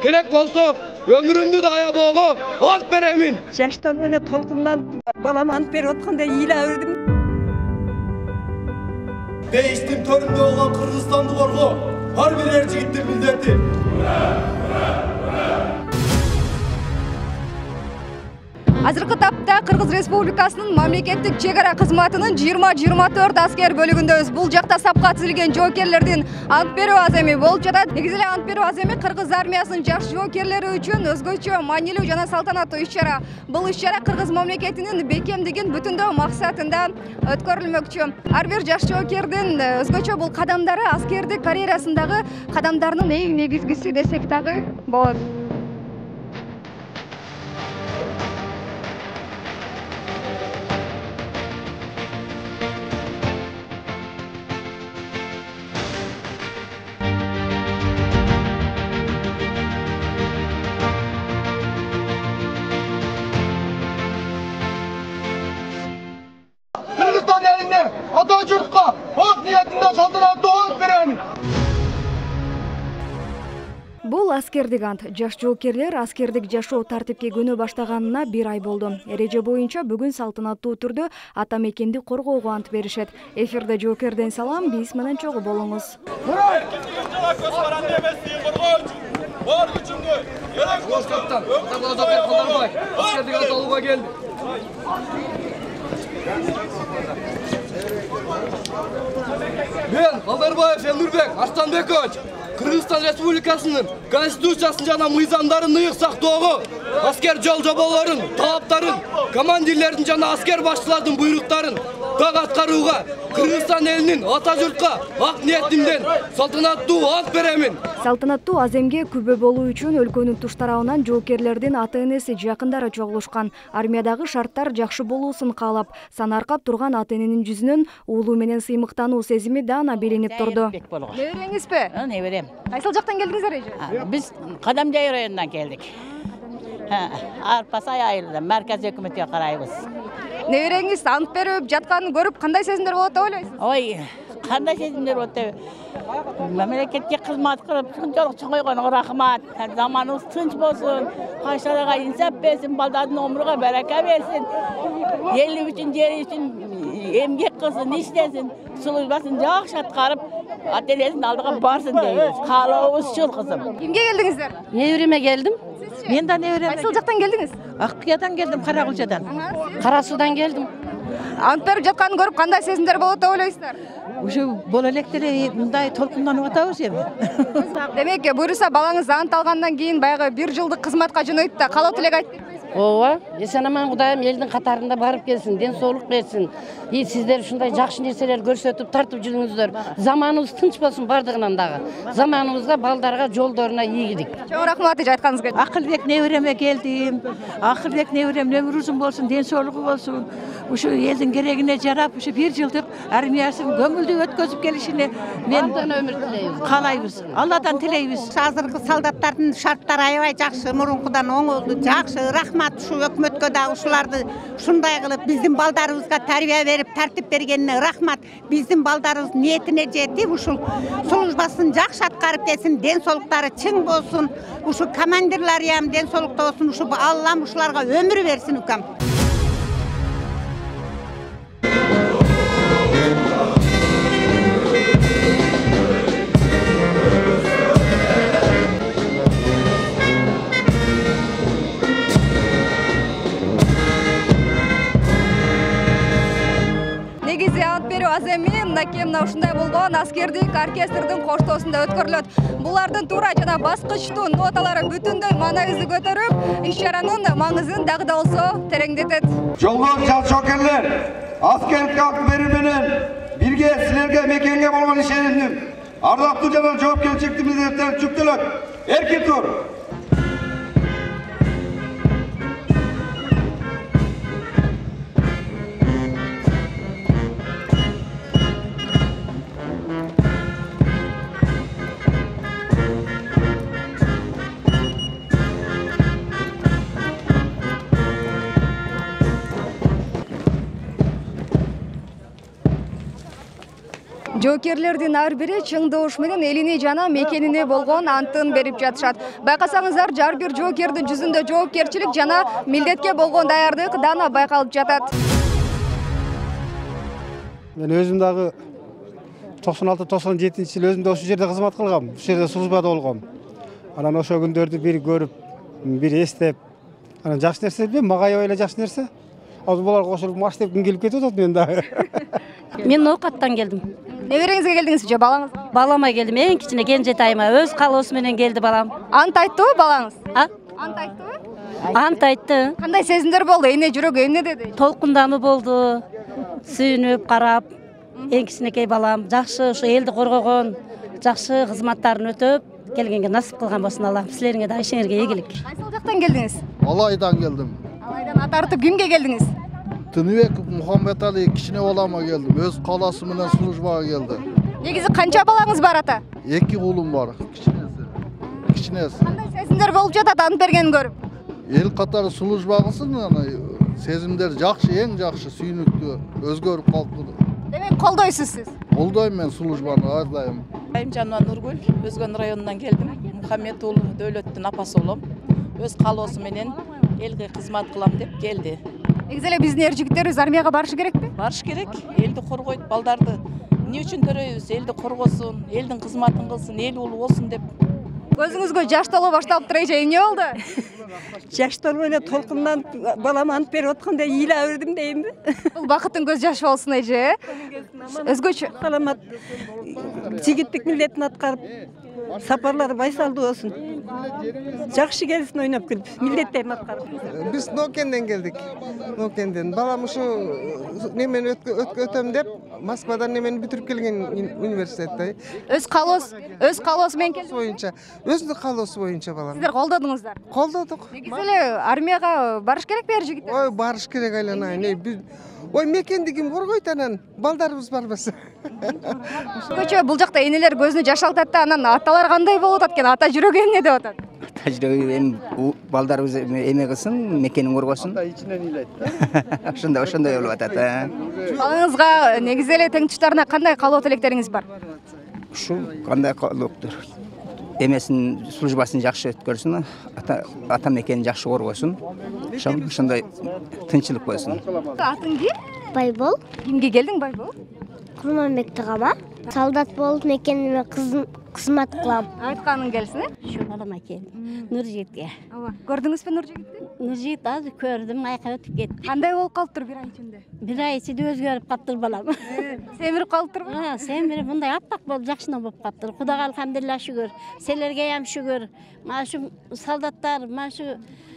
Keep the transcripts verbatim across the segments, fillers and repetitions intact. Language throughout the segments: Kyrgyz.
керек болсо ömrümdü de ayaboğu ant beremin. Жаштан эле толкундан балам ант берип атканда ыйлап үрдүм. Değiştim töründe olan Kırgızstan'dı korku. Har bir er жигиттин милдети. Азыркы тапта Кыргыз Республикасынын мамлекеттик чек ара кызматынын жыйырма жыйырма төрт аскер бөлүгүндөбүз. Бул жакта сапка тизилген жоокерлердин ант берүү аземи болуп жатат. Негизи эле ант берүү аземи Кыргыз армиясынын жаш жоокерлери үчүн өзгөчө маанилүү жана салтанаттуу иш-чара. Бул иш-чара Кыргыз мамлекетинин бекемдигин бүтүндөө максатында өткөрүлмөкчү. Ар бир жаш жоокердин өзгөчө бул кадамдары аскердик карьерасындагы кадамдарынын эң негизгиси десек дагы болот. Kırgızstan elinde Atatürk'e hak niyetinde saltanatlı ant beremin. Бул аскердик ант. Жаш жоокерлер аскердик жашоо тартипке көнө баштаганына бир ай болду. Эреже боюнча бүгүн салтанаттуу түрдө ата мекенди коргоого ант беришет. Эфирде жоокерден салам, биз менен чогуу болуңуз. Бар күчүмдү керек болсо аскердик ант алууга келди. Мен Алдарбаев Элнурбек Арстанбекович Кыргызстан Республикасынын Конституциясын жана мыйзамдарын ыйык сактоого, аскер жол жоболорун, талаптарын, командирлердин жана аскер башчылардын буйруктарын так аткарууга Кыргызстан элинин Атажуртка ак ниетимден салтанаттуу ант беремин. Салтанаттуу аземге күбө болуу үчүн өлкөнүн туш тарабынан жоокерлердин ата-энеси, жакындары чогулушкан. Армиядагы шарттар жакшы болуусун каалап, санаркап турган ата-эненин жүзүнөн уулуу менен сыймыктануу сезими даана билинип турду. Небереңизби? Неберем. Кайсыл жактан келдиңиздер эже? Биз Кадамжай районунан келдик. Арпасай айылынан марказ өкмөткө карайбыз. Небереңиз ант берип жатканын көрүп кандай сезимдер болот деп ойлойсуз? Ой, кандай сезимдер болот деп. Мамлекетке кызмат кылып, шунчалык чоңойгонго рахмат. Заманыбыз тынч болсун, кайшарага инсап берсин, балдардын өмүрүгө барака берсин. Ели үчүн, жери үчүн эмгек кылсын, иштесин, службасын жакшы аткарып, ата-энесинин алдыга барсын дейбиз. Каалообуз ушул кызым. Кимге келдиңиздер? Небереме келдим. Мен да небереме. Кайсыл жактан келдиңиз? Аккыядан келдим, Каракулчадан. Кара Суудан келдим. Ант берип жатканын көрүп кандай сезимдер болот деп ойлойсуздар? Ушу боло элек деле мындай толкунданып атабыз эми. Демек, буюрса балаңыз ант алгандан кийин баягы бир жылдык кызматка жөнөйт да калоо тилек айтты. Ооба, эсен-аман Кудайым элдин катарында барып келсин, ден соолук берсин. И сиздер ушундай жакшы нерселер көрсөтүп тартып жүрүңүздөр. Заманыбыз тынч болсун бардыгынан дагы. Заманыбызга, балдарга, жолдоруна ийгилик. Чоң рахмат эже айтканыңызга. Акылбек небереме келдим. Акылбек неберем өмүрү узун болсун, ден соолугу болсун. Ушу элдин керегине жарап, ушу бир жылдык армиясын көңүлдүү өткөзүп келишине мен өмүр тилейбиз. каалайбыз. Алладан тилейбиз. Азыркы солдаттардын шарттары аябай жакшы, мурункудан оңолду, жакшы. Рахмат ушу өкмөткө да ушуларды ушундай кылып биздин балдарыбызга тарбия берип, тартип бергенине рахмат. Биздин балдарыбыз ниетине жетип, ушул службасын жакшы аткарып келсин, ден соолуктары чың болсун. Ушу командирлери ham ден соолукта болсун, ушу Аллам ушуларга өмүр берсин укам. Негизи ант берүү аземи мынакей мына ушундай болгон аскердик оркестрдин коштоосунда өткөрүлөт. Булардын туура жана баскычтуу ноталары бүтүндөй маанайыбызды көтөрүп, иш-чаранын маңызын дагы да болсо тереңдетет. Жолго жаш жоокерлер, аскердик ант берүү менен бирге силерге мекенге болгон ишенимдин ардактуу жана жоопкерчиликтүү милдеттери жүктөлөт. Эркин тур. жоокерлердин ар бири чың добуш менен элине жана мекенине болгон антын берип жатышат. Байкасаңыздар, ар бир жоокердин жүзүндө жоопкерчилик жана милдетке болгон даярдык дана байкалып жатат. Мен өзүм дагы токсон алты токсон жетинчи жыл өзүм да ошол жерде кызмат кылгам, ушул жерде службада болгом. Анан ошол күндөрдү бир көрүп, бир эстеп, анан жакшы нерсе бе, мага аябай эле жакшы нерсе. Азыр буларга кошулуп маш деп келип кетип атат мен дагы. Мен Ноокаттан келдим. Небереңизге келдиңиз же балаңыз? Балама келдим, эң кичине кенжетайыма өз калоосу менен келди балам. Ант айтты балаңыз? А? Ант айтты? Ант айтты. Кандай сезимдер болду? Эне жүрөгү эмне деди? Толкундамы болду. Сүйүнүп карап, эң кичинекей балам жакшы ушу элди коргогон, жакшы кызматтарын өтөп келгенге насип кылган болсун Аллах. Силерге да ишиңерге ийгилик. Кайсыл жактан келдиңиз? Алайдан келдим. Алайдан ат артып кимге келдиңиз? Тыныбек Мухаммедали кичине балама келдим. Өз каласы менен службага келди. Негизи канча балаңыз бар ата? Эки уулум бар. Кичинеси. Кичинеси. Кандай сезимдер болуп жатат ант бергенин көрүп? Эл катары служба кылсын, сезимдер жакшы, эң жакшы, сүйүнүктүү, өзгөрүп калыптыр. Демек колдойсуз сиз? Колдойм мен службаны ар дайым. Айымжанова Нургүл, Өзгөн районунан келдим. Мухаммед уулу Дөөлөттүн апасы болом. Өз калоосу менен элге кызмат кылам деп келди. Негизи эле биздин эр жигиттерибиз армияга барышы керекпи? Барыш керек. Элди коргойт, балдарды эмне үчүн төрөйбүз? Элди коргосун, элдин кызматын кылсын, эл улуу болсун деп. Көзүңүзгө жаш толо башталыптыр эже, эмне болду? Жаш толуп эле толкундан балам ант берип атканда ыйла бердим дейинби? Бул бакыттын көз жашы болсун эже. Өзгөчө саламат жигиттик милдетин аткарып, сапарлары байсалдуу болсун. Жакшы келсин ойноп күлүп, милдеттерин аткарып. Биз Ноокенден келдик. Ноокенден. Балам ушу немени өтөм деп Москвадан немени бүтүрүп келген университетте. Өз калоос, өз калоосу менен келди боюнча, өзүнүн калоосу боюнча балам. Сиздер колдодуңуздар? Колдодук. Негизи эле армияга барыш керекпи эр жигиттер? Ой, барыш керек айланайын. Ой, мекенди ким коргойт анан? Балдарыбыз барбаса. Көчө бул жакта энелер көзүнө жаш алтат да, анан аталар кандай болуп атат экен? Ата жүрөгү эмне деп атат? Ата жүрөгү эми балдарыбыз эме кылсын, мекенин коргосун. Ата ичинен ыйлайт. Ошондой, ошондой болуп атат. Балаңызга негизи эле тең туштарына кандай каалоо тилектериңиз бар? Ушул кандай каалооктур? Эмесин, службасын жакшы өткөрсүн, ата ата мекенин жакшы коргосун. Ошондой тынчылык болсун. Атың ким? Байбол. Кимге келдиң Байбол? Курманбекти кама. Солдат болуп мекениме кызмат кылам. Айтканың келсин, э? Şu balama keldim. Nurjit'e. Ооба. Көрдүңүзбү Нуржигитти? Nurjit azı gördüm, ayqa ötüp ketdi. Кандай болуп калыптыр бир ай ичинде? Bir ay içinde özgörüp kaptır balam. Семирип калыптырбы? Ha, semiri bunday appak bolup jakşına bolup kaptır. Kudaga alhamdulillah şükür. Selerge ham şükür. Mana şu soldatlar, mana şu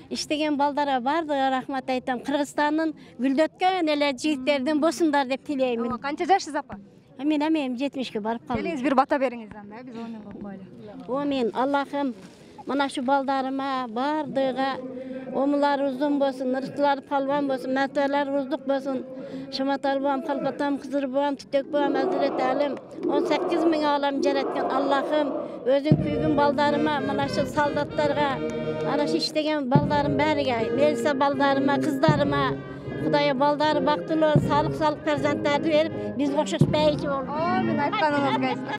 иштеген балдара бардыгы рахмат айтам. Кыргызстандын гүлдөткөн эле жигиттердин босундар деп тилеймин. Канча жашсыз апа? Мен амем жетимишке барып калдым. Келиңиз бир бата бериңиз анда, биз оны койлу. О мен Аллахым мына şu балдарыма бардыгы омулары узун болсун, ырыктылары палван болсун, мәртебелери уздук болсун. Шаматал бам, Калкатам, Кызыр бам, Түтөк бам, Азырет Алим он сегиз миң алам жараткан Аллахым өзүң күйгөн балдарыма, мына şu солдаттарга, ana şu иштеген балдарым бәріге, Мелиса балдарыма, кыздарыма, Кудайы балдары бактылуу, салык салык перзенттарды берип, биз окшош бейчи болуп. Амин, айтканыңызга.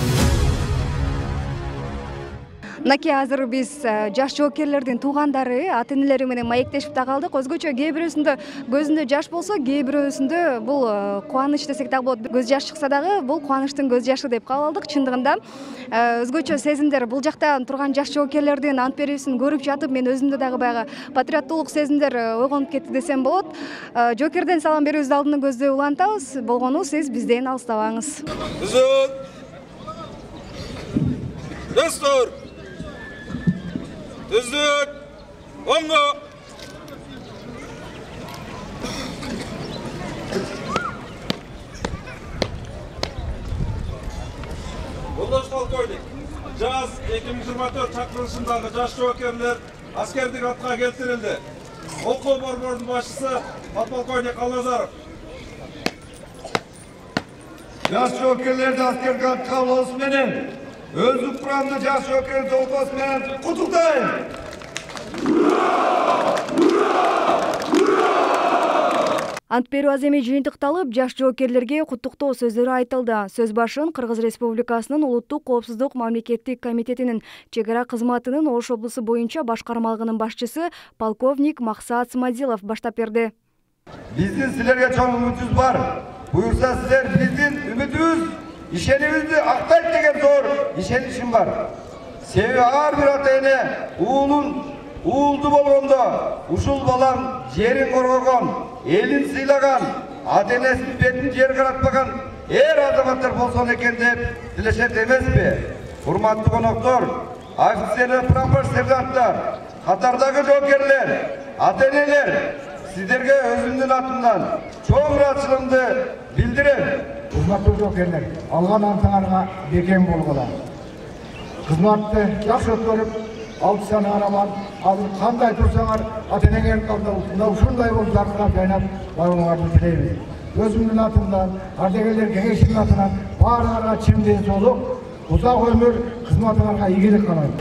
Мынакей азыр биз жаш жоокерлердин туугандары, ата-энелери менен маектешип да калдык. Өзгөчө кээ бирөөсүндө көзүндө жаш болсо, кээ бирөөсүндө бул кубаныч десек дагы болот. Көз жаш чыкса дагы бул кубанычтын көз жашы деп кабыл алдык. Чындыгында өзгөчө сезимдер бул жакта турган жаш жоокерлердин ант берүүсүн көрүп жатып, мен өзүмдө дагы баягы патриоттуулук сезимдер ойгонуп кетти десем болот. Жоокерден салам берүүбүздү алдыны көздөй улантабыз. Болгону сиз бизден алыстабаңыз. Түзөт. Дастур. Түзөт. Оңго. Жолдош полковник, жаз эки миң жыйырма төрт чакырылышындагы жаш жоокерлер аскердик атка келтирилди. Окуу борборунун башчысы подполковник Алназаров. Жаш жоокерлерди аскердик атка алуусу менен өзү курамды жаш жоокер толпасы менен куттуктайм. Ант берүү аземи жыйынтыкталып, жаш жоокерлерге куттуктоо сөздөрү айтылды. Сөз башын Кыргыз Республикасынын Улуттук коопсуздук мамлекеттик комитетинин чек ара кызматынын Ош облусу боюнча башкармалыгынын башчысы полковник Максат Смадилов баштап берди. Биздин силерге чоң үмүтүбүз бар. Буюрса силер биздин үмүтүбүз, ишенимизди актайт деген зор ишеничим бар. Себеби ар бир ата эне уулун уулду болгондо ушул балам жерин коргогон, элин сыйлаган, ата энесинин бетин жер каратпаган эр азаматтар болсун экен деп тилешет эмеспи? Урматтуу коноктор, офицерлер, прапор сержанттар, катардагы жоокерлер, ата энелер, сиздерге өзүмдүн атымдан чоң ыраазычылыгымды билдирем. Урматтуу жоокерлер, алган антыңарга бекем болгула. Кызматты жакшы өткөрүп, алты саны араман, азыр кандай турсаңар, ата энеңердин алдында ушундай болуп жаркырап жайнап барууңарды тилейбиз. Өзүмдүн атымдан, ардагерлер кеңешинин атынан баарыңарга чын ден соолук, узак өмүр, кызматыңарга ийгилик каалайм.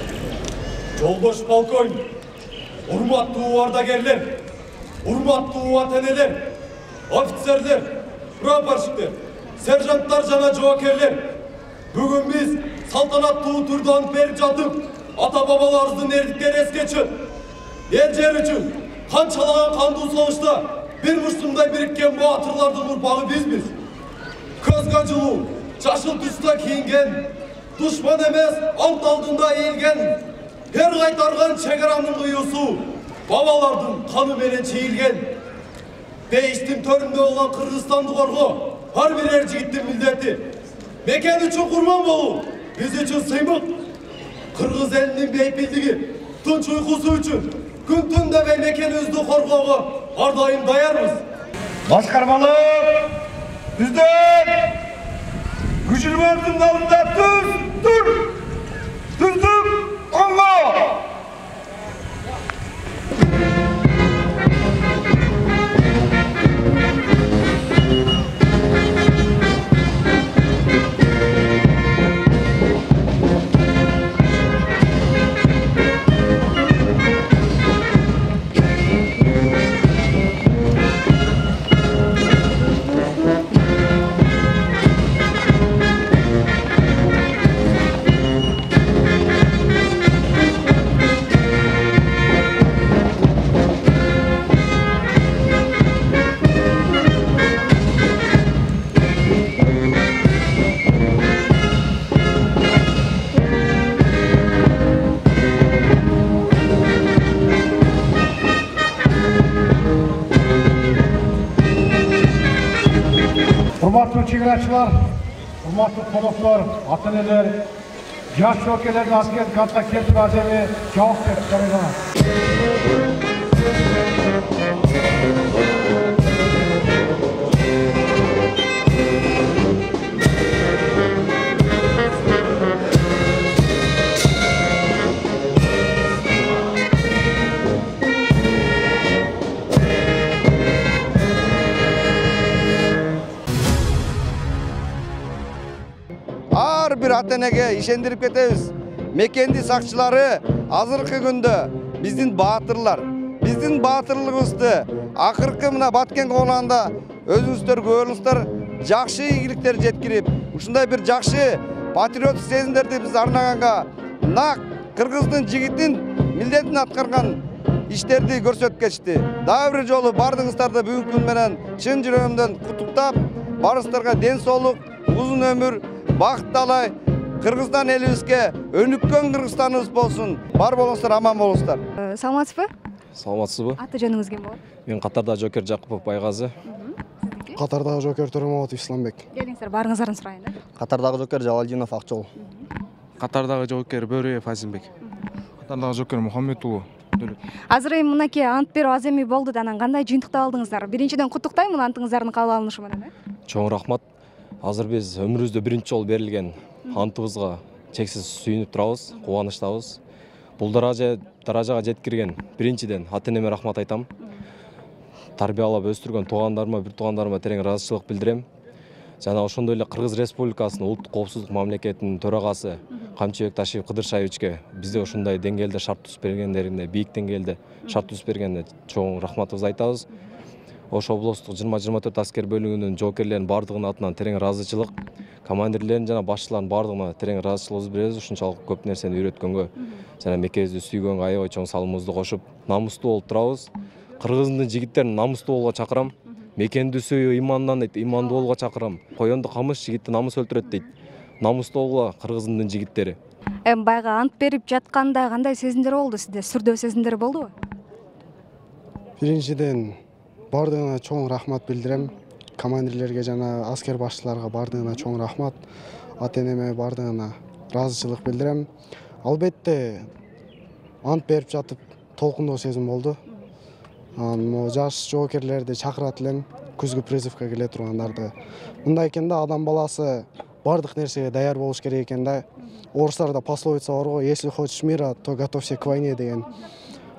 Жолдош полковник, урматтуу ардагерлер, урматтуу ата энелер, офицерлер, прапорщиктер, сержанттар жана жоокерлер, бүгүн биз салтанаттуу түрдө ант берип жатып, ата бабаларыбыздын эрдиктери эске чыгып, эл жер үчүн канчалаган кандуу согушта бир мушсундай бириккен баатырлардын урпагы бизбиз. Көзгө жылуу, жашыл түстө кийинген, душман эмес ант алдында эйлген, эр кайтарган чек аранын кыюусу бабалардын каны менен чийилген. Дейиштин төрүндө болгон Кыргызстанды коргоо ар бир эр жигиттин милдети. Мекен үчүн курман болуу биз үчүн сыймык. Кыргыз элинин бейпилдиги, тынч уйкусу үчүн күн түн дебей мекенибизди коргоого ар дайым даярбыз. Башкармалык бизден күчүлмөрдүн алдында тур, тур, туздук, оңго. Урматтуу чегарачылар, урматтуу коноктор, ата энелер, жаш жоокерлердин аскердик антка келтирүү аземи жабык деп каралат. Ар бир ата энеге ишендирип кетебиз. Мекенди сакчылары азыркы күндө биздин баатырлар, биздин баатырлыгыбызды акыркы мына Баткен коонагында өзүңүздөр көрүңүздөр, жакшы ийгиликтер жеткирип, ушундай бир жакшы патриоттук сезимдерди биз арнаганга нак кыргыздын жигитин милдетин аткарган иштерди көрсөтүп кетишти. Дагы бир жолу бардыгыңыздарды бүгүнкү күн менен чын жүрөгүмдөн куттуктап, барыңыздарга ден соолук, узун өмүр, бакыт талай, Кыргызстан элибизге өнүккөн Кыргызстаныбыз болсун. Бар болуңуздар, аман болуңуздар. Саламатсызбы? Саламатсызбы? Аты жөнүңүз ким болот? Мен катардагы жоокер Жакупов Байгазы. Катардагы жоокер Төрөмөбатов Исламбек. Келиңиздер, барыңыздарын сурайын да. Катардагы жоокер Жалалдинов Акчол. Катардагы жоокер Бөрөев Азимбек. Катардагы жоокер Мухаммед уулу Дөлөт. Азыр эми мынакей ант берүү аземи болду да, анан кандай жыйынтыкта алдыңыздар? Биринчиден куттуктайм мына антыңыздардын кабыл алынышы менен. Чоң рахмат. Азыр биз өмүрүбүздө биринчи жолу берилген антыбызга чексиз сүйүнүп турабыз, кубанычтабыз. Бул даража даражага жеткирген биринчиден ата энеме рахмат айтам. Тарбиялап өстүргөн туугандарыма, бир туугандарыма терең ыраазычылык билдирем. Жана ошондой эле Кыргыз Республикасынын улуттук коопсуздук мамлекетинин төрагасы Камчыбек Ташиев Кыдыршаевичке бизде ошондой деңгээлде шарт түзүп бергендерине, бийик деңгээлде шарт түзүп бергенине чоң рахматыбызды айтабыз. Ош облустук жыйырма жыйырма төрт аскер бөлүгүнүн жоокерлеринин бардыгынын атынан терең ыраазычылык, командирлердин жана башчылардын бардыгына терең ыраазычылыгыбызды беребиз. Ушунчалык көп нерсени үйрөткөнгө жана мекенибизди сүйгөнгө аябай чоң салымыбызды кошуп, намустуу болуп турабыз. Кыргыздын жигиттерин намустуу болууга чакырам. Мекенди сүйүү имандан дейт, имандуу болууга чакырам. Коёнду камыш жигитти намыс өлтүрөт дейт. Намустуу болгула кыргыздын жигиттери. Эми байга ант берип жатканда кандай сезимдер болду сизде? Сүрдөө сезимдер болдубу? Биринчиден бардыгына чоң рахмат билдирем. Командирлерге жана аскер башчыларга бардыгына чоң рахмат. Ата-энеме бардыгына ыраазычылык билдирем. Албетте ант берип жатып толкундоо сезим болду. Могу жаш жоокерлерди чакырат элем, күзгү призывка келе тургандарды. Мындай экен да, адам баласы бардык нерсеге даяр болуш керек экен да. Орустарда пословица бар го, если хочешь мира, то готовься к войне деген.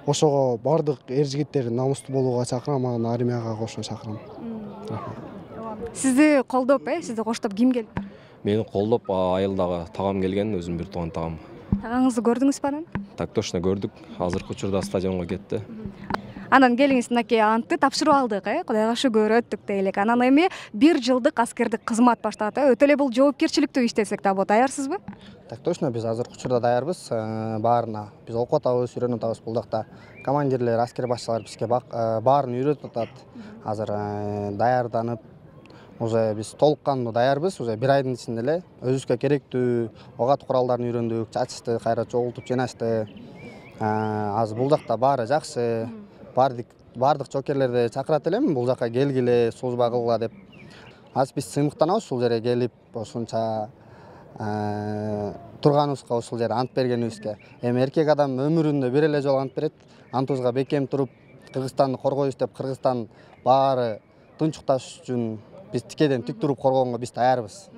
Ошого бардык эр жигиттер намустуу болууга чакырам, анан армияга кошо чакырам. Сизди колдоп, э, сизди коштоп ким келди? Мени колдоп айылдагы тагам келген, өзүм бир тууган тагам. Тагаңызды көрдүңүзбү анан? Так точно көрдүк. Азыркы учурда стадионго кетти. Анан келиңиз, мынакей антты тапшырып алдык, э, Кудайга шүгүр өттүк дейлик. Анан эми бир жылдык аскердик кызмат башталат, э. Өтө эле бул жоопкерчиликтүү иш десек да болот. Даярсызбы? Так точно, биз азыркы учурда даярбыз баарына. Биз окуп атабыз, үйрөнүп атабыз. Бул жакта командирлер, аскер башчылар бизге баарын үйрөтүп атат. Азыр даярданып, уже биз толук кандуу даярбыз. Уже бир айдын ичинде эле өзүбүзгө керектүү огат куралдарын үйрөндүк, чачышты, кайра чогултуп жинашты. Азыр бул жакта баары жакшы. Бардык бардык жоокерлерди чакырат элем, бул жака келгиле, служба кылгыла деп. Азыр биз сыймыктанабыз ушул жерге келип, ушунча турганыбызга, ушул жерде ант бергенибизге. Эми эркек адам өмүрүндө бир эле жолу ант берет. Антыбызга бекем туруп, Кыргызстанды коргойбуз деп, Кыргызстан баары тынчташ үчүн биз тикеден тик туруп коргоонго биз даярбыз.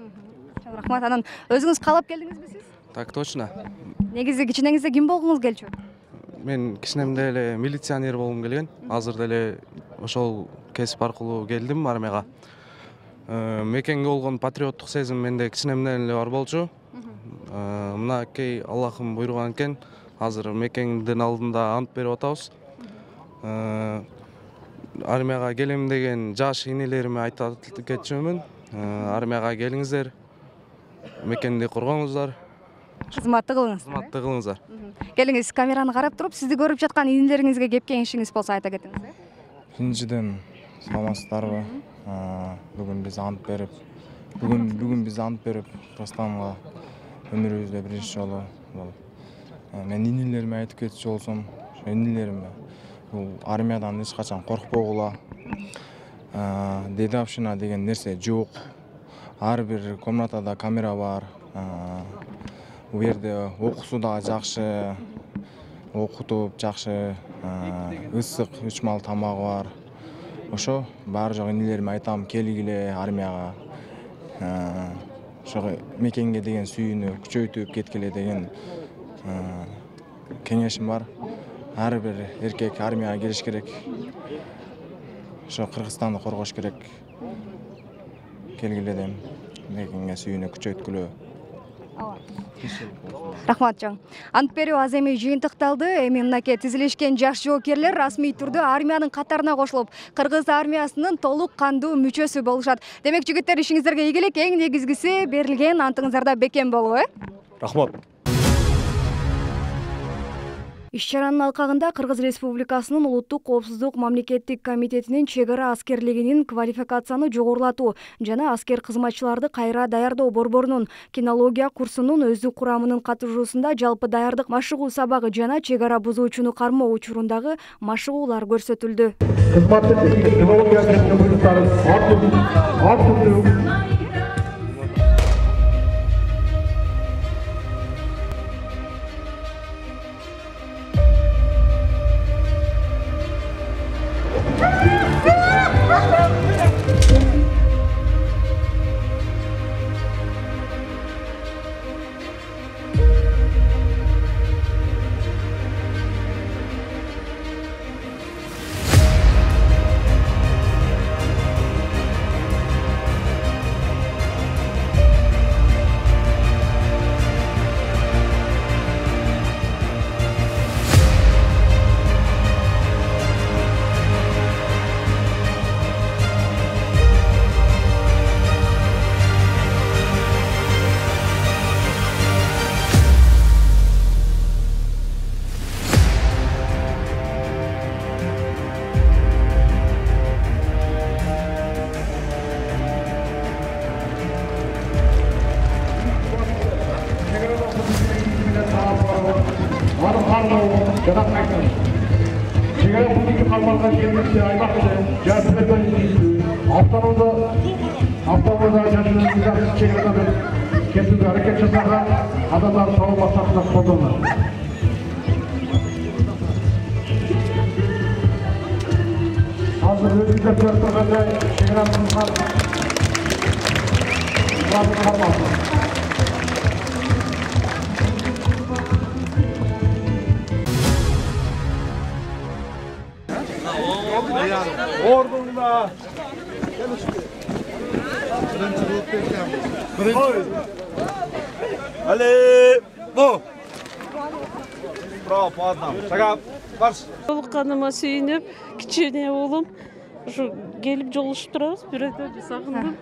Рахмат. Анан өзүңүз каалап келдиңизби сиз? Так точно. Негизи кичинеңизде ким болгуңуз келчү? Мен кичинемде эле милиционер болгум келген. Азыр деле ошол кесип аркылуу келдим армияга. Мекенге болгон патриоттук сезим менде кичинемден эле бар болчу. Мынакей Аллахым буйруган экен. Азыр мекендин алдында ант берип атабыз. Армияга келем деген жаш инелериме айтып кетчүмүн. Армияга келиңиздер. Мекенди коргоңуздар. Кызматты кылыңыз. Кызматты кылыңыздар. Келиңиз, камераны карап туруп, сизди көрүп жаткан инелериңизге кеп кеңешиңиз болсо айта кетиңиз. Биринчиден, саламатсыздарбы? Бүгүн биз ант берип, бүгүн бүгүн биз ант берип, Кыргызстанга өмүрүбүздө биринчи жолу болуп. Мен инелериме айтып кетчү болсом, ошо инелериме бул армиядан эч качан коркпогула. Дедовщина деген нерсе жок. Ар бир комнатада камера бар. Бул жерде окуусу да жакшы, окутуп жакшы, ысык үч мал тамагы бар. Ошо баары жок инелериме айтам, келгиле армияга. Ошо мекенге деген сүйүүнү күчөйтүп кеткиле деген кеңешим бар. Ар бир эркек армияга кириш керек. Ошо Кыргызстанды коргош керек. Келгиле дейм. Мекенге сүйүүнү күчөйткүлө. Рахмат жан. Ант берүү аз эми жыйынтыкталды. Эми мынакей тизилишкен жаш жоокерлер расмий түрдө армиянын катарына кошулуп, Кыргыз армиясынын толук кандуу мүчөсү болушат. Демек жигиттер, ишиңиздерге ийгилик, эң негизгиси берилген антыңыздарда бекем болуу, э? Рахмат. Иш-чаранын алкагында Кыргыз Республикасынын Улуттук коопсуздук мамлекеттик комитетинин чек ара аскерлигинин квалификацияны жогорулатуу жана аскер кызматчыларды кайра даярдоо борборунун кинология курсунун өздүк курамынын катышуусунда жалпы даярдык машыгуу сабагы жана чек ара бузуучуну кармоо учурундагы машыгуулар көрсөтүлдү. бардыгы жаратмайсың. Чегара бүгүнкү калмалган жергиликти аймакты жаап автономдо автономдо жашоонун чегарадан кетүүгө аракет жасаган адамдар табуу максатында колдонулат. Hazır özgürlük törtöründe çevremizden bazı kalmasın. Ordunda. Ali, bu. Bravo, adam. Çakap, baş. Толукканыма сүйүнүп, кичине уулум ушу келип жолугушуп турабыз. Бирөөдөн сагындым.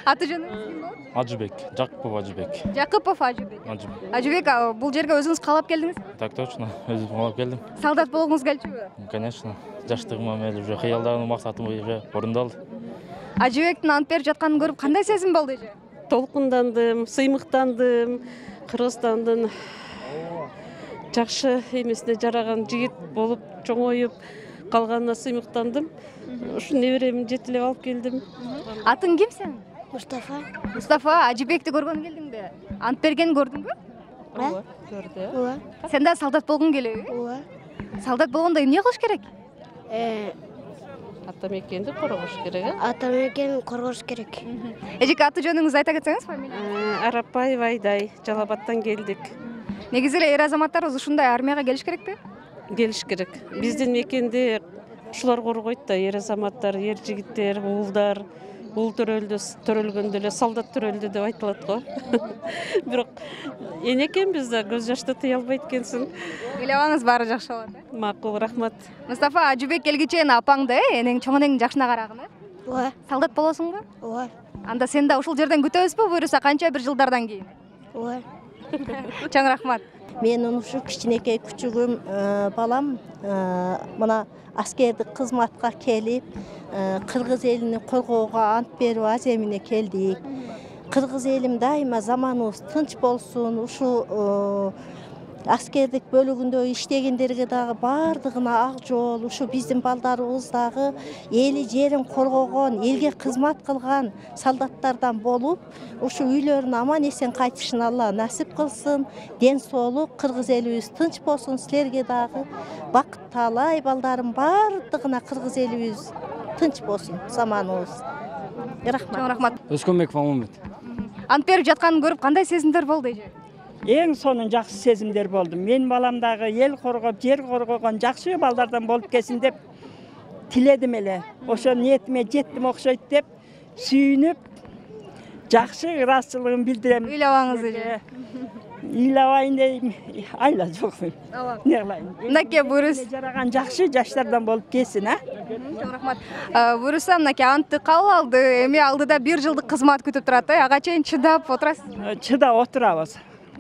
Аты жөнүңүз ким болот? Ажыбек, Жакупов Ажыбек. Жакупов Ажыбек. Ажыбек. Ажыбек, бул жерге өзүңүз каалап келдиңиз? Так точно, өзүм каалап келдим. Солдат болгуңуз келчүбү? Конечно. Жаштыгыма мели уже кыялдарым, максатым уже орундалды. Ажыбектин ант берип жатканын көрүп кандай сезим болду эже? Толкундандым, сыймыктандым. Кыргызстандын жакшы эмесине жараган жигит болуп чоңоюп калганына сыймыктандым. Ушу неберемди жетелеп алып келдим. Атың ким сенин? Мустафа. Мустафа, Ажыбекти көргөнгө келдиңби? Ант бергенин көрдүңбү? Ооба, көрдү. Ооба. Сен да солдат болгуң келеби? Ооба. Солдат болгондо эмне кылыш керек? Э, ата мекенди коргош керек, э? ата мекенин коргош керек. Эжеке, аты жөнүңүздү айта кетсеңиз, фамилияңыз? Арапбаева Айдай, Жалал-Абадтан келдик. Негизи эле эр азаматтарыбыз ушундай армияга келиш керекпи? Келиш керек. Биздин мекенди ушулар коргойт да, эр азаматтар, эр жигиттер, уулдар, уул төрөлдү, төрөлгөндө эле солдат төрөлдү деп айтылат го. Бирок эне экенбиз да, көз жашты тыя албайт экенсиң. Ыйлабаңыз, баары жакшы болот, э? Макул, рахмат. Мустафа, Ажыбек келгичен апаңды, э, энең чоң энеңдин жакшына карагын, э? Ооба. Солдат болосуңбу? Ооба. Анда сен да ушул жерден күтөбүзбү, буюрса канча бир жылдардан кийин? Ооба. Чоң рахмат. Менин ушу кичинекей күчүгүм балам мына аскердик кызматка келип, кыргыз элини коргоого ант берип аземине келдик. Кыргыз элим дайыма заманыбыз тынч болсун, ушу аскердик бөлүгүндө иштегендерге дагы баардыгына ак жол, ушу биздин балдарыбыз дагы эли жерин коргогон, элге кызмат кылган солдаттардан болуп, ушу үйлөрүнө аман эсен кайтышын Алла насип кылсын. Ден соолук, кыргыз элибиз тынч болсун, силерге дагы бакыт таалай, балдарым баардыгына кыргыз элибиз тынч болсун, заманыбыз. Рахмат. Чоң рахмат. Өскөнбеков Аманбет. Ант берип жатканын көрүп кандай сезимдер болду эже? Эң сонун жакшы сезимдер болду. Мен балам дагы эл коргоп, жер коргогон жакшы балдардан болуп келсин деп тиледим эле. Ошо ниетиме жеттим окшойт деп сүйүнүп, жакшы ыраазычылыгын билдирем. Ыйлабаңыз эже. Ыйлабайын дейм, айла жок. Не кылайын? Мынакей бурус жараган жакшы жаштардан болуп келсин, а? Чоң рахмат. Буруса мынакей антты кабыл алды. Эми алдыда бир жылдык кызмат күтүп турат, э? Ага чейин чыдап отурасыз? Чыдап отурабыз.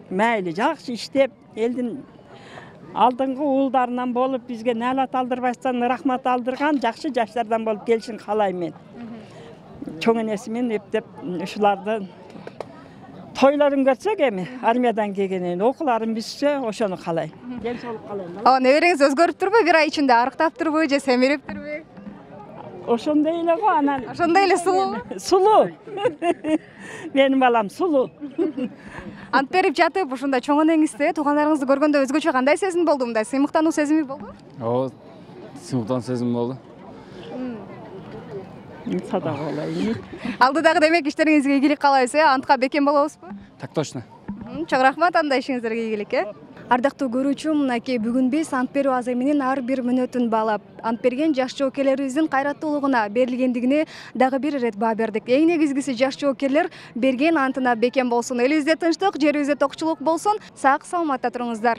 Майли жакшы иштеп, элдин алдыңкы уулдарынан болуп бизге наалат алдырбастан рахмат алдырган жакшы жаштардан болуп келишин каалайм мен. Чоң энесимен эптеп ушуларды тойлорун көрсөк эми армиядан келгенен окууларын бүтсө ошону каалайм. Ден соолук каалайм. А небереңиз өзгөрүптүрбү? Бир ай ичинде арыктаптырбы же семириптирби? Ошондой эле го анан. Ошондой эле сулуу. Сулуу. Менин балам сулуу. Ант берип жатып, ушундай чоң энеңизди, туугандарыңызды көргөндө өзгөчө кандай сезим болду? Мындай сыймыктануу сезими болду? Ооба, сыймыктануу сезими болду. Садак болайын. Алдыдагы демек иштериңизге ийгилик каалайбыз, э? Антка бекем болобузбу? Так точно. Чоң рахмат, анда ишиңиздерге ийгилик, э? Ардактуу көрүүчү, мынакей бүгүн биз ант берүү аземинин ар бир мүнөтүн баалап, ант берген жаш жоокерлерибиздин кайраттуулугуна берилгендигине дагы бир ирет баа бердик. Эң негизгиси жаш жоокерлер берген антына бекем болсун. Элибизде тынчтык, жерибизде токчулук болсун. Сак саламатта туруңуздар.